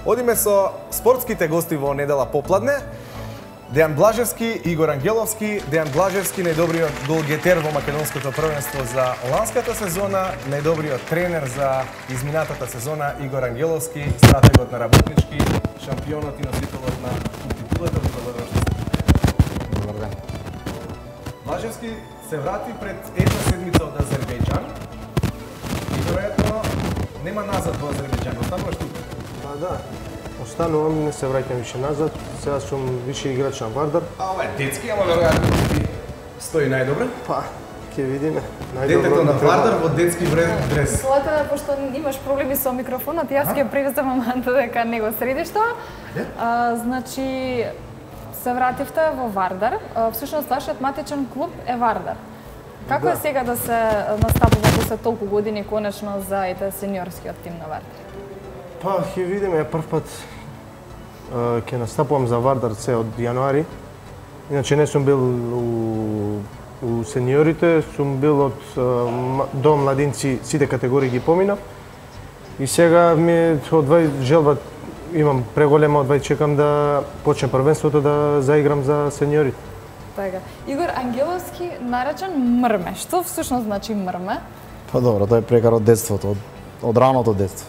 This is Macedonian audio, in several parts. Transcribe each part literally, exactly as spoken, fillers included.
Одиме со спортските гости во недела попладне. Дејан Блажевски, Игор Ангеловски. Дејан Блажевски, најдобриот голгетер во македонското првенство за ланската сезона, најдобриот тренер за изминатата сезона Игор Ангеловски, стратегот на Работнички, шампионот и носителот на титулата. Добар ден. Блажевски се врати пред една седмица од Азербејџан и веројатно нема назад во Азербејџан. Остануваш тука? Па да. Останувам, не се враќам више назад. Сега сум више играч на Вардар. А ова е детски, ама веројатно ти стои најдобро. Па, ќе видиме. Детето на Вардар во детски дрес. Злата, пошто имаш проблеми со микрофонот, јас ќе превзем моментот дека не го средиш тоа. А, значи, се вративте во Вардар. Всушност, вашиот матичен клуб е Вардар. Како Да. е сега да се настапува после толку години конечно за ете сениорскиот тим на Вардар? Па, ќе видиме, прв пат а, ќе настапувам за Вардар се од јануари. Иначе не сум бил у, у сениорите, сум бил од а, м- до младинци, сите категории ги поминав. И сега ми е одвај желба, имам преголема, одвај чекам да почне првенството да заиграм за сениорите. Така. Игор Ангеловски наречен Мрме. Што всушност значи Мрме? Па добро, тоа е прекар од детството, од, од раното детство.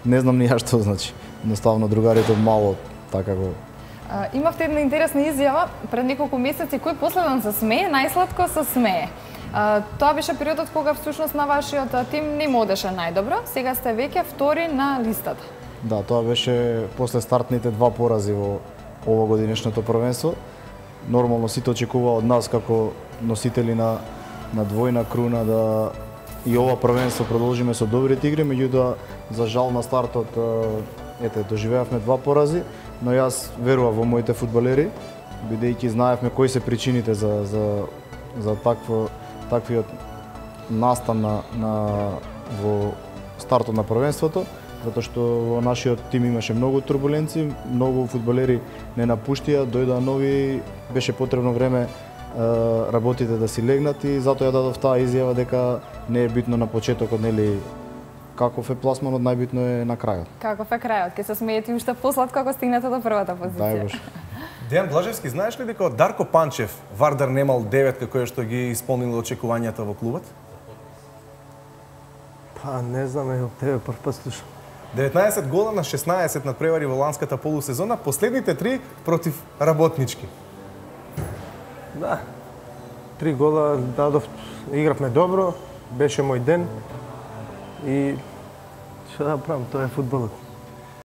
Не знам ни ја што значи. Едноставно другарите од мало така го. А, имавте една интересна изјава пред неколку месеци, кој последен се смее, најсладко се смее. А, тоа беше периодот кога всушност на вашиот тим не му одеше најдобро. Сега сте веќе втори на листата. Да, тоа беше после стартните два порази во овогодинешното првенство. Нормално сите очекува од нас како носители на на двојна круна да и ова првенство продолжиме со добрите игри, меѓутоа за жал на стартот ете доживеавме два порази, но јас верував во моите фудбалери, бидејќи знаевме кои се причините за за за такво таквиот настан на на во стартот на првенството, затоа што во нашиот тим имаше многу турбуленции, многу фудбалери не напуштија, дојдоа нови, беше потребно време работите да си легнат и затоа ја дадов таа изјава дека не е битно на почетокот, нели каков е пласманот, најбитно е на крајот. Каков е крајот? Ке се смеете уште посладко ако стигнете до првата позиција. Дај Боже. Дејан Блажевски, знаеш ли дека од Дарко Панчев Вардар немал деветка која што ги исполнила очекувањата во клубот? Па, не знам, е, од тебе прв пат слушам. деветнаесет гола на шеснаесет надпревари во ланската полусезона, последните три против Работнички. Да. Три гола дадов, игравме добро, беше мој ден и што да правам, тоа е фудбалот.